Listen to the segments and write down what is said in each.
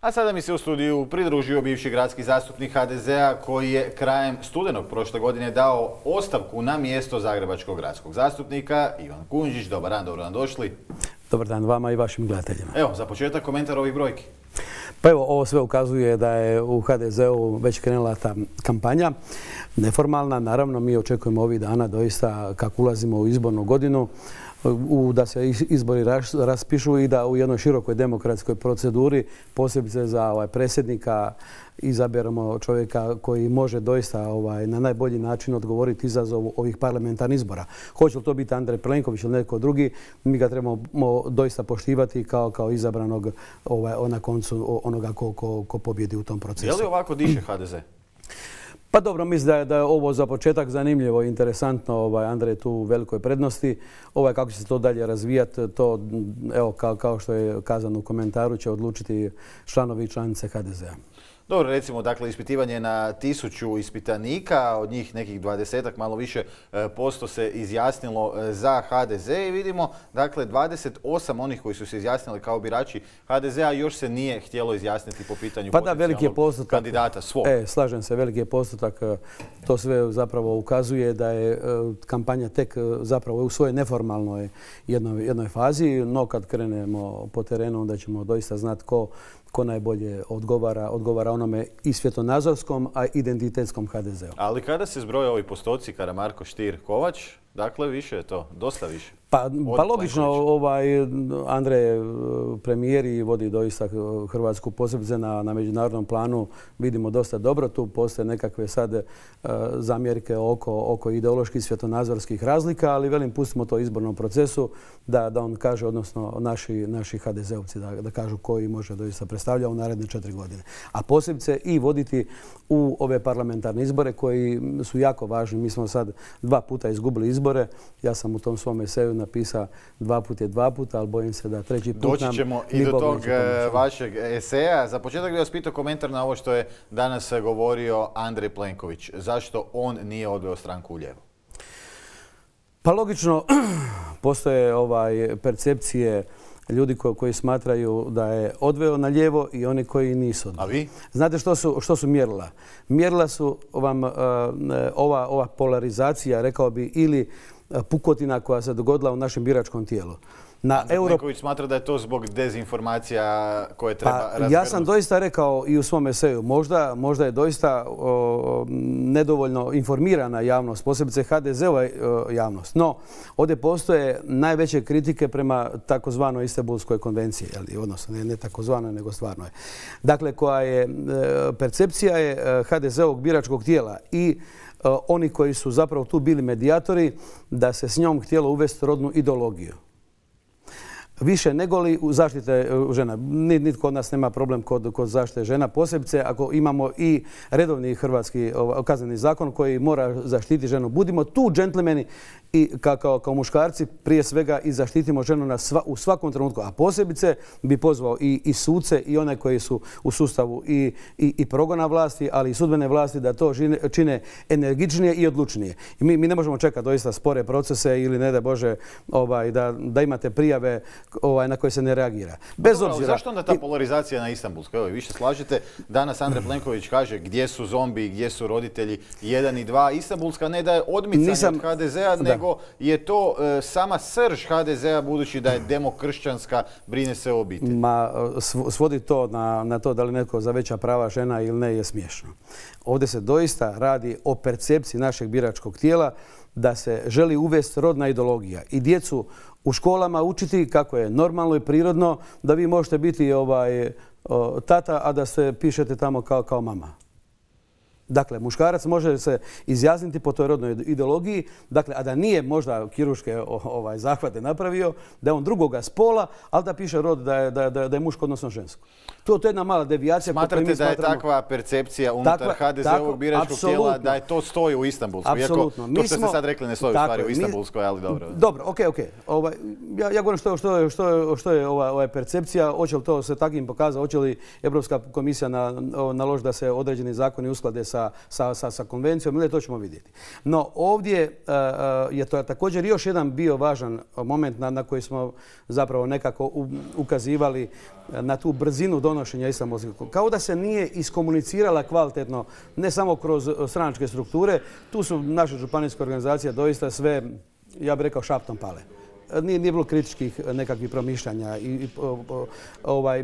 A sada mi se u studiju pridružio bivši gradski zastupnik HDZ-a koji je krajem studenog prošle godine dao ostavku na mjesto zagrebačkog gradskog zastupnika. Ivan Kujundžić, dobar dan, dobro nam došli. Dobar dan vama i vašim gledateljima. Evo, za početak komentar ovih brojki. Pa evo, ovo sve ukazuje da je u HDZ-u već krenula ta kampanja neformalna. Naravno, mi očekujemo ovih dana doista kako ulazimo u izbornu godinu da se izbori raspišu i da u jednoj širokoj demokratskoj proceduri, posebice za predsjednika, izaberemo čovjeka koji može doista na najbolji način odgovoriti izazovu ovih parlamentarnih izbora. Hoće li to biti Andrej Plenković ili neko drugi, mi ga trebamo doista poštivati kao izabranog na koncu onoga ko pobjedi u tom procesu. Je li ovako diše HDZ? Pa dobro, mislim da je ovo za početak zanimljivo i interesantno. Andrej je tu u velikoj prednosti. Kako će se to dalje razvijati, to evo, kao što je kazano u komentaru, će odlučiti članovi i članice HDZ-a. Dobro, recimo, dakle, ispitivanje na 1000 ispitanika, od njih nekih 20-ak, malo više posto se izjasnilo za HDZ i vidimo, dakle, 28 onih koji su se izjasnili kao birači HDZ-a još se nije htjelo izjasniti po pitanju potencijalnog kandidata svog. Slažem se, veliki je postotak. To sve zapravo ukazuje da je kampanja tek zapravo u svojoj neformalnoj jednoj fazi, no kad krenemo po terenu onda ćemo doista znati ko najbolje odgovara onome i svjetonazorskom, a identitetskom HDZ-u. Ali kada se zbroje ovi postoci, Karamarko, Stier, Kovač, dakle više je to, dosta više. Pa logično, Andrej premijer i vodi doista Hrvatsku posebice na međunarodnom planu, vidimo dosta dobro. Tu postoje nekakve sad zamjerke oko ideoloških svjetonazorskih razlika, ali velim, pustimo to izbornom procesu da on kaže, odnosno naši HDZ-ovci da kažu koji može doista predstavlja u naredne 4 godine. A posebice i voditi u ove parlamentarne izbore koji su jako važni. Mi smo sad 2 puta izgubili izbore. Ja sam u tom svom eseju napisao 2 puta je 2 puta, ali bojim se da 3. put doći ćemo i do tog vašeg eseja. Za početak bih vas pitao komentar na ovo što je danas govorio Andrej Plenković. Zašto on nije odveo stranku u lijevo? Pa logično, postoje percepcije ljudi koji smatraju da je odveo na lijevo i oni koji nisu odveo. A vi? Znate što su mjerila? Mjerila su vam ova polarizacija, rekao bi, ili pukotina koja se dogodila u našem biračkom tijelu. Plenković smatra da je to zbog dezinformacija koje treba razgrnuti. Ja sam doista rekao i u svom eseju, možda je doista nedovoljno informirana javnost, posebice HDZ-ova javnost. No, ovdje postoje najveće kritike prema takozvanoj Istanbulskoj konvenciji, odnosno ne takozvanoj, nego stvarnoj. Dakle, koja je percepcija je HDZ-ovog biračkog tijela i oni koji su zapravo tu bili medijatori da se s njom htjelo uvesti rodnu ideologiju. Više nego li u zaštite žena. Nitko od nas nema problem kod zaštite žena, posebice ako imamo i redovni hrvatski kazneni zakon koji mora zaštiti ženu. Budimo tu džentlmeni i kao muškarci prije svega i zaštitimo ženu u svakom trenutku. A posebice bi pozvao i suce i one koji su u sustavu i progona vlasti, ali i sudbene vlasti da to čine energičnije i odlučnije. I mi ne možemo čekati doista spore procese ili ne da Bože da imate prijave na koje se ne reagira. Bez obzira. Zašto onda ta polarizacija na Istanbulskoj? Evo, vi se slažete. Danas Andrej Plenković kaže gdje su zombi, gdje su roditelji 1 i 2. Istanbulska ne da je odmicanje od HDZ-a, nego je to sama srž HDZ-a budući da je demokršćanska, brine se o obitelji. Svodi to na to da li netko za veća prava žena ili ne je smiješno. Ovdje se doista radi o percepciji našeg biračkog tijela da se želi uvesti rodna ideologija i djecu u školama učiti kako je normalno i prirodno da vi možete biti tata, a da se pišete tamo kao mama. Dakle, muškarac može se izjasniti po toj rodnoj ideologiji, dakle, a da nije možda kirurške zahvate napravio, da je on drugoga spola, ali da piše rod da je muško odnosno žensko. To je jedna mala devijacija. Smatrate da je takva percepcija unutar HDZ-ovog biračkog tijela da je to stoji u Istanbulskoj? Apsolutno. To što ste sad rekli ne stoji u stvari u Istanbulskoj, ali dobro. Dobro, okej. Ja govorim što je percepcija, hoće li to se takvim pokazati, hoće li Europska komisija naložiti da se određeni zakoni usklade sa konvencijom, ili to ćemo vidjeti. No ovdje je to također još jedan bio važan moment na koji smo zapravo nekako ukazivali na tu brzinu donošenja Istanbulskog. Kao da se nije iskomunicirala kvalitetno, ne samo kroz stranačke strukture, tu su naše županijske organizacije doista sve, ja bih rekao, šaptom pale. Nije bilo kritičkih nekakvih promišljanja.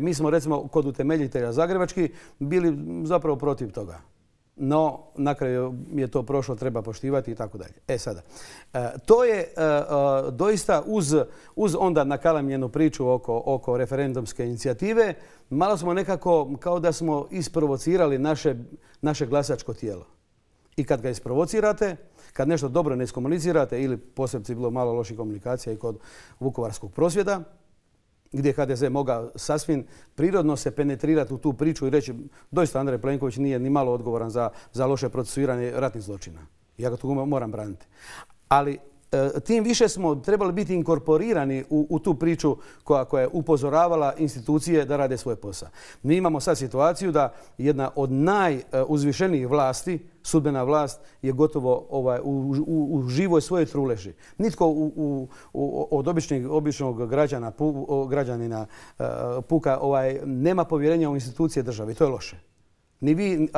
Mi smo recimo kod utemeljitelja zagrebački bili zapravo protiv toga. No, na kraju je to prošlo, treba poštivati i tako dalje. Sada, to je doista uz onda nakalamljenu priču oko referendumske inicijative, malo smo nekako kao da smo isprovocirali naše glasačko tijelo. I kad ga isprovocirate, kad nešto dobro ne iskomunicirate ili posebno bilo malo loših komunikacija i kod vukovarskog prosvjeda, gdje je HDZ mogao sasvim prirodno se penetrirati u tu priču i reći doista Andrej Plenković nije ni malo odgovoran za loše procesuiranje ratnih zločina. Ja ga tu moram braniti. Ali tim više smo trebali biti inkorporirani u tu priču koja je upozoravala institucije da rade svoj posao. Mi imamo sad situaciju da jedna od najuzvišenijih vlasti, sudbena vlast, je gotovo u živoj svojoj truleži. Nitko od običnog građanina puka nema povjerenja u institucije države i to je loše. Ni vi,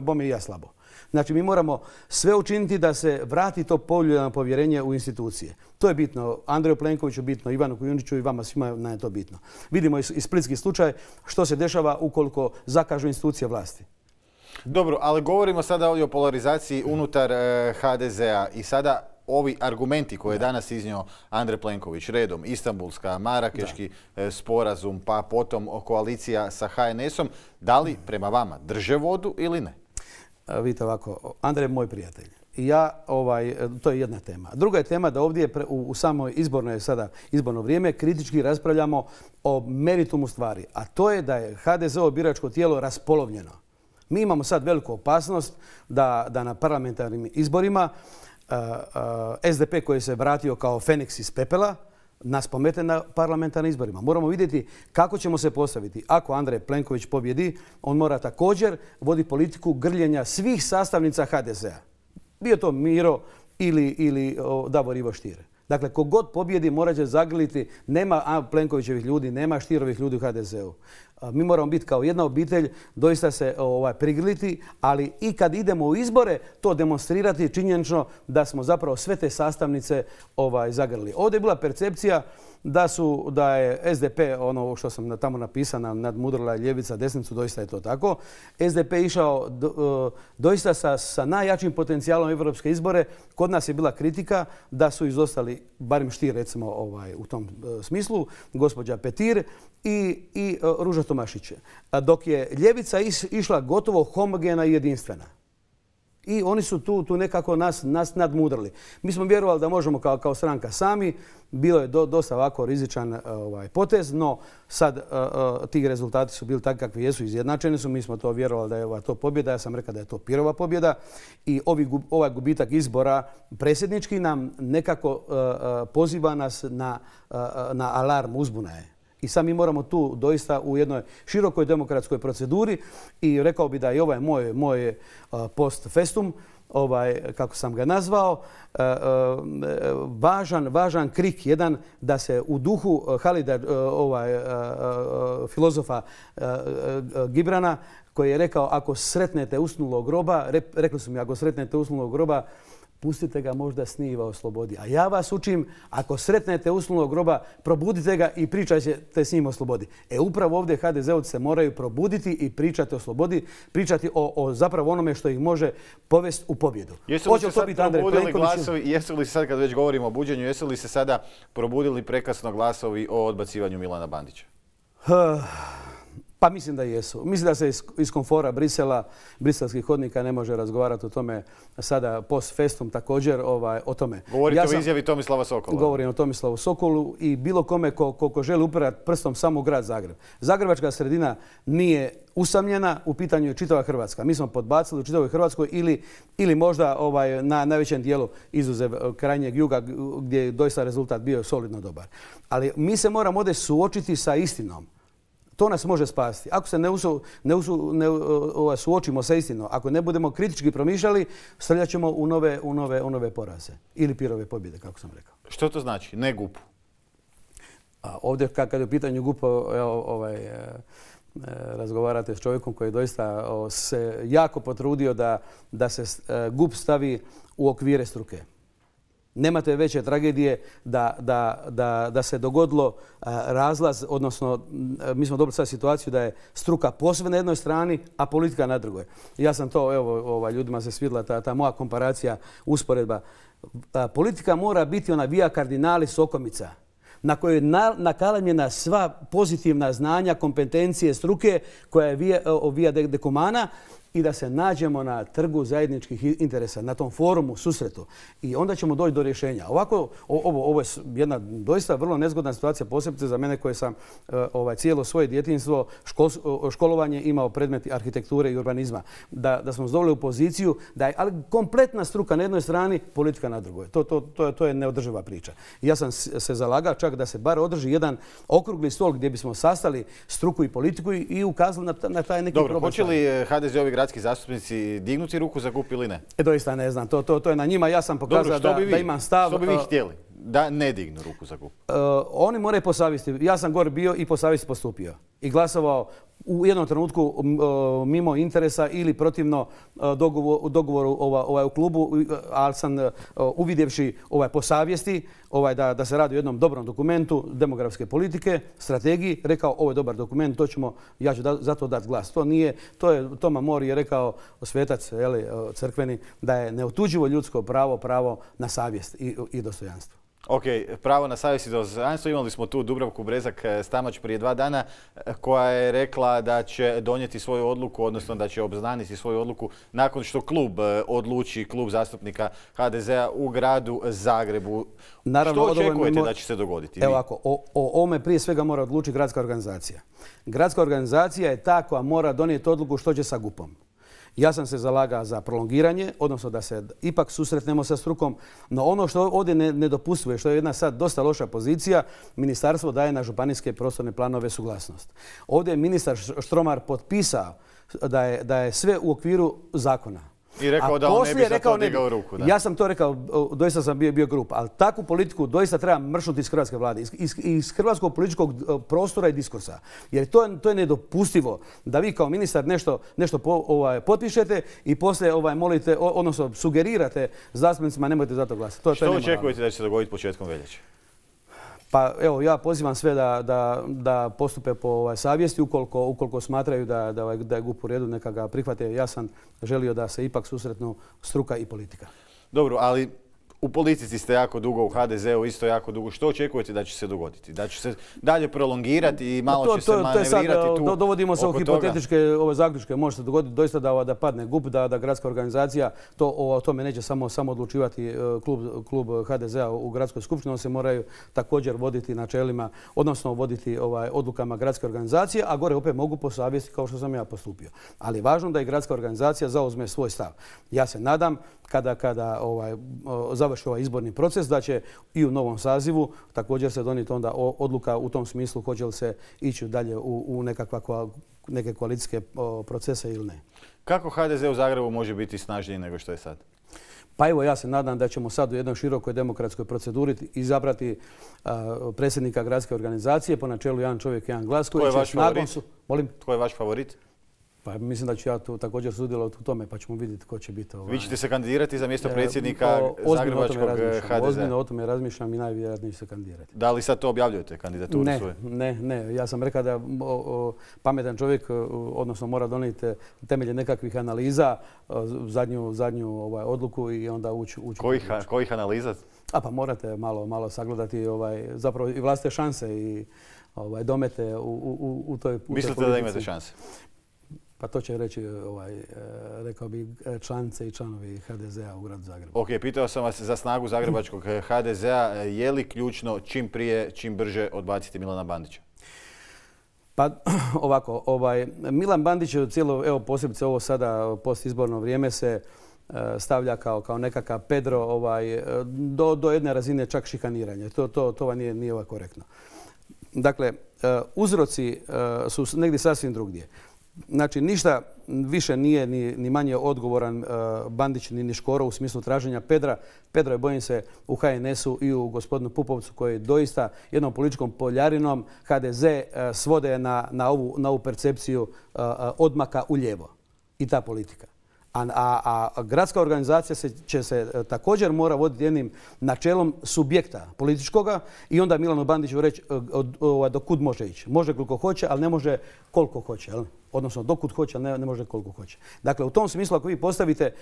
bome i ja slabo. Znači, mi moramo sve učiniti da se vrati to poljuljano povjerenje u institucije. To je bitno Andreju Plenkoviću, bitno Ivanu Kujundžiću i vama svima nam je to bitno. Vidimo i splitski slučaj što se dešava ukoliko zakažu institucije vlasti. Dobro, ali govorimo sada ovdje o polarizaciji unutar HDZ-a i sada ovi argumenti koje je danas iznio Andrej Plenković, redom Istanbulska, Marakeški sporazum, pa potom koalicija sa HNS-om, da li prema vama drže vodu ili ne? Vidite ovako, Andrej je moj prijatelj. To je jedna tema. Druga je tema da ovdje u samoj izborno vrijeme kritički raspravljamo o meritumu stvari, a to je da je HDZ-ovo biračko tijelo raspolovljeno. Mi imamo sad veliku opasnost da na parlamentarnim izborima SDP koji se vratio kao Feniks iz pepela nas pomete na parlamentarnim izborima. Moramo vidjeti kako ćemo se postaviti. Ako Andrej Plenković pobjedi, on mora također voditi politiku grljenja svih sastavnica HDZ-a. Bio to Miro ili Davor Ivo Stier. Dakle, kogod pobjedi morat će zagrliti, nema Plenkovićevih ljudi, nema Stierovih ljudi u HDZ-u. Mi moramo biti kao jedna obitelj, doista se prigrliti, ali i kad idemo u izbore, to demonstrirati činjenično da smo zapravo sve te sastavnice zagrlili. Ovdje je bila percepcija da je SDP, ono što sam tamo napisano, nadmudrila ljevica desnicu, doista je to tako. SDP je išao doista sa najjačim potencijalom europske izbore. Kod nas je bila kritika da su izostali, barem Stier recimo u tom smislu, gospođa Petir i Ruža Tomašić. Dok je ljevica išla gotovo homogena i jedinstvena. I oni su tu nekako nas nadmudrili. Mi smo vjerovali da možemo kao stranka sami. Bilo je dosta ovako rizičan potez, no sad ti rezultati su bili takvi kakvi jesu, izjednačeni su. Mi smo to vjerovali da je to pobjeda. Ja sam rekao da je to Pirova pobjeda. I ovaj gubitak izbora predsjednički nam nekako poziva nas na alarm, uzbuna je. I sad mi moramo tu doista u jednoj širokoj demokratskoj proceduri i rekao bi da i ovaj moj post festum, kako sam ga nazvao, važan krik jedan da se u duhu Halida, filozofa Gibrana, koji je rekao ako sretnete usnulog groba, rekli su mi ako sretnete usnulog groba, pustite ga, možda sniva o slobodi. A ja vas učim, ako sretnete usnulog groba, probudite ga i pričajte s njim o slobodi. Upravo ovdje HDZ-ovci se moraju probuditi i pričati o slobodi, pričati o zapravo onome što ih može povesti u pobjedu. Jesu li se sad, kad već govorimo o buđenju, jesu li se sada probudili prekasno glasovi o odbacivanju Milana Bandića? Pa mislim da jesu. Mislim da se iz komfora Brisela, briselskih hodnika ne može razgovarati o tome sada post festum također o tome. Govorite o izjavi Tomislava Sokola. Govorim o Tomislavu Sokolu i bilo kome ko želi upirati prstom samo u grad Zagreb. Zagrebačka sredina nije usamljena, u pitanju je čitava Hrvatska. Mi smo podbacili u čitavoj Hrvatskoj ili možda na najvećem dijelu izuzev krajnjeg juga gdje je doista rezultat bio solidno dobar. Ali mi se moramo ovdje suočiti sa istinom. to nas može spasiti. Ako se ne suočimo sa istinom, ako ne budemo kritički promišljali, srljat ćemo u nove poraze. Ili pirove pobjede, kako sam rekao. Što to znači? Ne GUP-u? Ovdje, kad je u pitanju GUP, razgovarate s čovjekom koji doista se jako potrudio da se GUP stavi u okvire struke. Nemate veće tragedije da se dogodilo razlaz, odnosno mi smo dobili sad situaciju da je struka posve na jednoj strani, a politika na drugoj. Ja sam to, ljudima se svidjela ta moja komparacija, usporedba. Politika mora biti ona via cardinalis okomica, na kojoj je nakalamljena sva pozitivna znanja, kompetencije struke koja je via decumana, i da se nađemo na trgu zajedničkih interesa, na tom forumu, susretu. I onda ćemo doći do rješenja. Ovako, ovo je jedna doista vrlo nezgodna situacija, posebice za mene koji sam cijelo svoje djetinjstvo, školovanje imao predmeti arhitekture i urbanizma. Da smo doveli u poziciju da je ali kompletna struka na jednoj strani, politika na drugoj. To je neodrživa priča. I ja sam se zalagao čak da se bar održi jedan okrugli stol gdje bismo sastali struku i politiku i ukazali na taj neki problem. Dobro, hoće li HDZ-ovi gradski zastupnici dignuti ruku za GUP ili ne? Doista ne znam. To je na njima. Ja sam pokazao da imam stav. Što bi vi htjeli? Da ne dignu ruku za GUP? Oni moraju po savjesti. Ja sam gore bio i po savjesti postupio. I glasovao u jednom trenutku mimo interesa ili protivno dogovoru u klubu, ali sam uvidjevši po savjesti da se radi o jednom dobrom dokumentu demografske politike, strategiji, rekao ovo je dobar dokument, ja ću za to dati glas. Toma Mori je rekao, svetac crkveni, da je neotuđivo ljudsko pravo na savjest i dostojanstvo. Ok, pravo na savjest i dostojanstvo. Imali smo tu Dubravku Brezak-Stamač prije 2 dana koja je rekla da će donijeti svoju odluku, odnosno da će obznaniti svoju odluku nakon što klub odluči, klub zastupnika HDZ-a u gradu Zagrebu. Naravno, što očekujete da će se dogoditi? Evo ovako, o ovome prije svega mora odlučiti gradska organizacija. Gradska organizacija je ta koja mora donijeti odluku što će sa GUP-om. Ja sam se zalagao za prolongiranje, odnosno da se ipak susretnemo sa strukom, no ono što ovdje nedopustivo je, što je jedna sad dosta loša pozicija, ministarstvo daje na županijske prostorne planove suglasnost. Ovdje je ministar Štromar potpisao da je sve u okviru zakona. I rekao da on ne bi za to digao ruku. Ja sam to rekao, doista sam bio grup, ali takvu politiku doista treba mršnuti iz hrvatske vlade, iz hrvatskog političkog prostora i diskursa. Jer to je nedopustivo da vi kao ministar nešto potpišete i poslije molite, odnosno sugerirate zastupnicima nemojte za to glasati. Što očekujete da će se dogoditi početkom veljače? Pa evo, ja pozivam sve da postupe po savjesti, ukoliko smatraju da je GUP u redu, neka ga prihvate. Ja sam želio da se ipak susretnu struka i politika. Dobro, ali u politici ste jako dugo, u HDZ-u isto jako dugo. Što očekujete da će se dogoditi? Da će se dalje prolongirati i malo će se manevrirati tu? Dovodimo se u hipotetičke zaključke. Može se dogoditi doista da padne GUP, da gradska organizacija, o tome neće samo odlučivati klub HDZ-a u gradskoj skupštini. Oni se moraju također voditi načelima, odnosno voditi odlukama gradske organizacije, a gore opet mogu po savjesti kao što sam ja postupio. Ali je važno da i gradska organizacija zauzme svoj stav. Ja se nadam kada završi ovaj izborni proces, da će i u novom sazivu također se donijeti onda odluka u tom smislu hoće li se ići dalje u neke koalicijske procese ili ne. Kako HDZ u Zagrebu može biti snažniji nego što je sad? Pa evo, ja se nadam da ćemo sad u jednoj širokoj demokratskoj proceduri izabrati predsjednika gradske organizacije po načelu jedan čovjek, jedan glas. Tko je vaš favorit? Tko je vaš favorit? Pa mislim da ću ja tu također sudjelovati u tome, pa ćemo vidjeti ko će biti. Vi ćete se kandidirati za mjesto predsjednika Zagrebačkog HDZ-a? Ozbiljno o tome razmišljam i najvjerojatnije ću se kandidirati. Da li sad to objavljujete, kandidaturu svoju? Ne. Ja sam rekao da pametan čovjek, odnosno mora donijeti temelje nekakvih analiza, zadnju odluku i onda ući. Kojih analiza? Pa morate malo sagledati zapravo i vlastite šanse i domete u toj politici. Mislite da imate šanse? Pa to će reći, rekao bi, članice i članovi HDZ-a u gradu Zagrebu. Ok, pitao sam vas za snagu zagrebačkog HDZ-a. Je li ključno čim prije, čim brže odbaciti Milana Bandića? Pa ovako, Milan Bandić je cijelo, posebice ovo sada postizborno vrijeme se stavlja kao nekakav Pedro do jedne razine čak šikaniranja. To nije korektno. Dakle, uzroci su negdje sasvim drugdje. Znači, ništa više nije ni manje odgovoran Bandić ni Škoro u smislu traženja Pedra. Pedro je, bojim se, u HNS-u i u gospodinu Pupovcu koji doista jednom političkom poljarinom HDZ svode na ovu percepciju odmaka u lijevo. I ta politika. A gradska organizacija će se također mora voditi jednim načelom subjekta političkoga i onda Milanu Bandiću reći do kud može ići. Može koliko hoće, ali ne može koliko hoće. Odnosno dokud hoće, ali ne može koliko hoće. Dakle, u tom smislu ako vi postavite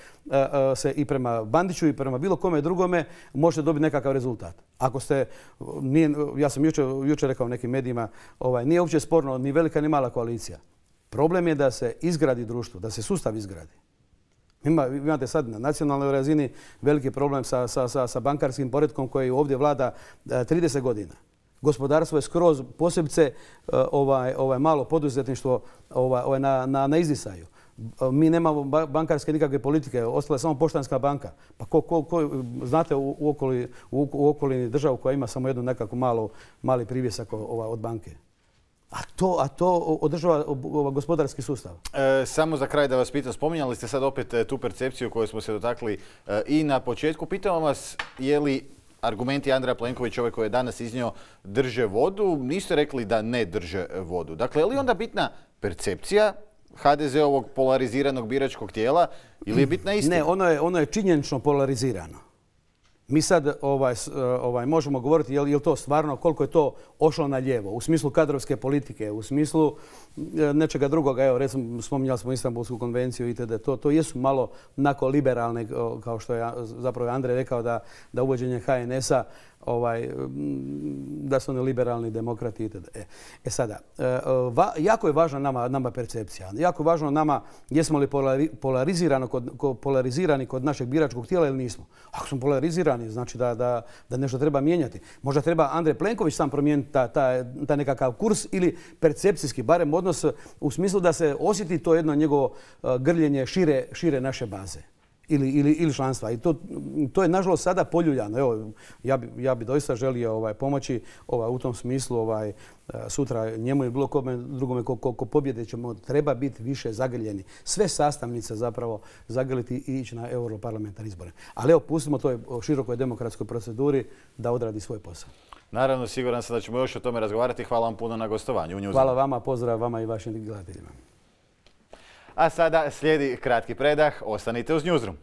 se i prema Bandiću i prema bilo kome drugome, možete dobiti nekakav rezultat. Ako ste, ja sam jučer rekao nekim medijima, nije uopće sporno ni velika ni mala koalicija. Problem je da se izgradi društvo, da se sustav izgradi. Imate sad na nacionalnoj razini veliki problem sa bankarskim poretkom koji ovdje vlada 30 godina. Gospodarstvo je skroz, posebice malo poduzetništvo na izdisaju. Mi nemamo bankarske nikakve politike, ostala je samo Poštanska banka. Pa znate u okolini državu koja ima samo jednu nekako mali privjesak od banke. A to održava gospodarski sustav. Samo za kraj da vas pitam, spominjali ste sad opet tu percepciju koju smo se dotakli i na početku. Pitam vas, je li argumenti Andreja Plenkovića, ovaj koji je danas iznio, drže vodu? Niste rekli da ne drže vodu. Dakle, je li onda bitna percepcija HDZ-ovog polariziranog biračkog tijela ili je bitna istina? Ne, ono je činjenično polarizirano. Mi sad možemo govoriti je li to stvarno, koliko je to ošlo na lijevo, u smislu kadrovske politike, u smislu nečega drugoga. Evo, recimo, spominjali smo Istanbulsku konvenciju itd. To jesu malo onako liberalne, kao što je zapravo Andrej rekao da uvođenje HNS-a da su oni liberalni demokrati itd. Sada, jako je važna nama percepcija. Jako je važno nama jesmo li polarizirani kod našeg biračkog tijela ili nismo. Ako smo polarizirani, znači da nešto treba mijenjati. Možda treba Andrej Plenković sam promijeniti taj nekakav kurs ili percepcijski, barem odnos u smislu da se osjeti to jedno njegovo grljenje šire naše baze. Ili članstva. I to je nažalost sada poljuljano. Evo, ja bi doista želio pomoći u tom smislu sutra njemu i bilo kome drugome ko pobjede ćemo treba biti više zagrljeni. Sve sastavnice zapravo zagrliti i ići na europarlamentarne izbore. Ali evo, pustimo toj širokoj demokratskoj proceduri da odradi svoj posao. Naravno, siguran sam da ćemo još o tome razgovarati. Hvala vam puno na gostovanju u Newsroomu. Hvala vama, pozdrav vama i vašim gledateljima. A sada slijedi kratki predah. Ostanite uz Newsroom.